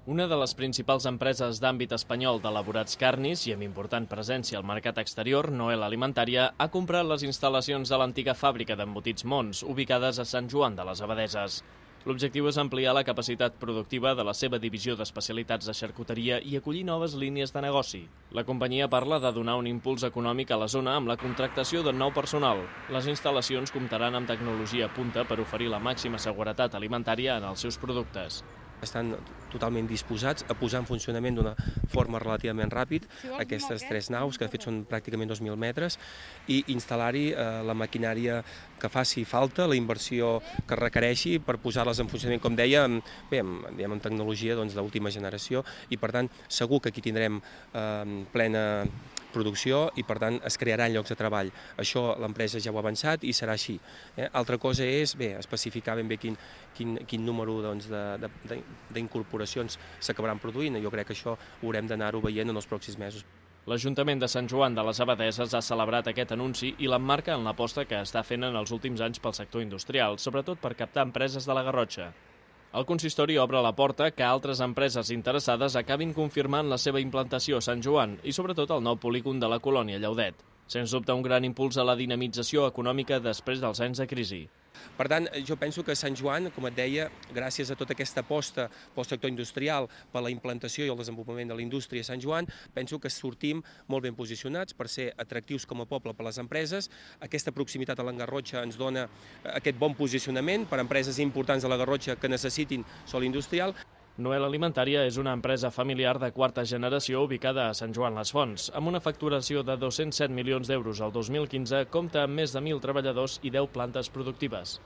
Una de les principals empreses d'àmbit espanyol d'elaborats carnis i amb important presència al mercat exterior, Noel Alimentària, ha comprat les instal·lacions de l'antiga fàbrica d'embotits Mons, ubicades a Sant Joan de les Abadeses. L'objectiu és ampliar la capacitat productiva de la seva divisió d'especialitats de xarcuteria i acollir noves línies de negoci. La companyia parla de donar un impuls econòmic a la zona amb la contractació de nou personal. Les instal·lacions comptaran amb tecnologia punta per oferir la màxima seguretat alimentària en els seus productes. Estan totalment disposats a posar en funcionament d'una forma relativament ràpid aquestes 3 naus, que de fet són pràcticament 2.000 metres, i instal·lar-hi la maquinària que faci falta, la inversió que requereixi per posar-les en funcionament, com deia, amb tecnologia d'última generació, i per tant segur que aquí tindrem plena producció i per tant es crearan llocs de treball. Això l'empresa ja ho ha avançat i serà així. Altra cosa és especificar ben bé quin número d'incorporacions s'acabaran produint. Jo crec que això ho haurem d'anar-ho veient en els pròxims mesos. L'Ajuntament de Sant Joan de les Abadeses ha celebrat aquest anunci i l'emmarca en l'aposta que està fent en els últims anys pel sector industrial, sobretot per captar empreses de la Garrotxa. El consistori obre la porta que altres empreses interessades acabin confirmant la seva implantació a Sant Joan i sobretot al nou polígon de la colònia Llaudet. Sens dubte un gran impuls a la dinamització econòmica després dels anys de crisi. Per tant, jo penso que Sant Joan, com et deia, gràcies a tota aquesta aposta pel sector industrial, per la implantació i el desenvolupament de la indústria a Sant Joan, penso que sortim molt ben posicionats per ser atractius com a poble per a les empreses. Aquesta proximitat a la Garrotxa ens dona aquest bon posicionament per a empreses importants de la Garrotxa que necessitin sòl industrial. Noel Alimentària és una empresa familiar de quarta generació ubicada a Sant Joan les Fonts. Amb una facturació de 207 milions d'euros al 2015, compta amb més de 1.000 treballadors i 10 plantes productives.